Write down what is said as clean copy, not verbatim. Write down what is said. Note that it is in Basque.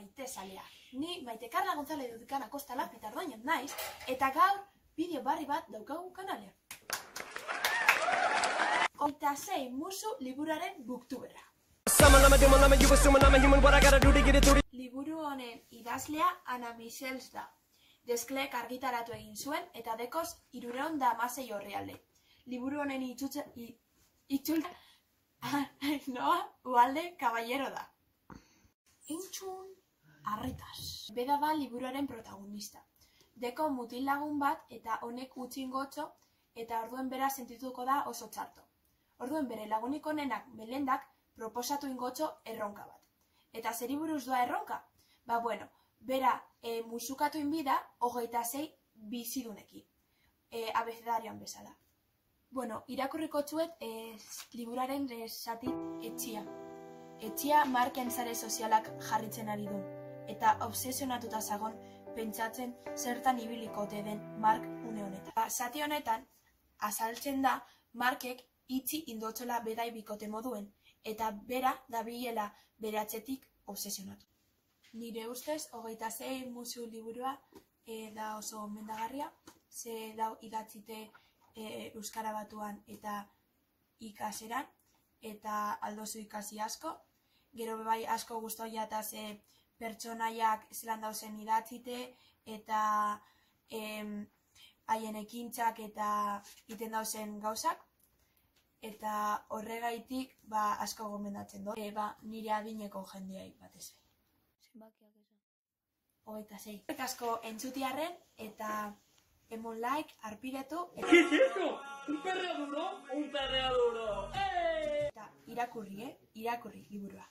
maite zalea. Ni Maite Carla González Dudikana Kostala Pitardoinen naiz, eta gaur bideo barri bat daukagu kanalean. 26 musu liburuaren booktuberra. Liburu honen idazlea Ana Michels da. Desclerc argitaratu egin zuen eta dekoz 316 orrialde. Liburu honen itzultza Ainhoa Ugalde Caballero da. Entzun arretaz. Beda da liburuaren protagonista. Deko mutil lagun bat eta honek utxin gotxo eta orduen bera sentituko da oso txarto. Orduen bere lagunik honenak Melendak proposatu ingotxo erronka bat. Eta zeri buruz doa erronka? Bera musukatu inbida 26 bizidunekin. Abecedarioan bezala. Irakurriko txuet liburaren zati Etxia. Etxia Marken sare sozialak jarritzen ari du. Eta obsesionatuta zagon pentsatzen zertan ibiliko ote den Mark une honetan. Zati honetan, azaltzen da Markek itxi indotxola bedai bikote moduen, eta bera dabilela bere atzetik obsesionatu. Nire ustez, 26 musu liburua da oso mendagarria, ze dau idatzite Euskara Batuan eta ikaseran, eta aldozu ikasi asko. Gero bebai asko guztoia eta ze pertsonaiak zelan dauzen idatzite, eta haien ekintzak eta iten dauzen gauzak. Eta horregaitik asko gomendatzen do. Nire adineko jendeai batez. Zenbakiak esan. 26. Asko entzutiarren eta emon like, arpidetu. ¿Qué es eso? ¿Un perreo duro? ¡Un perreo duro! Eta irakurri liburua.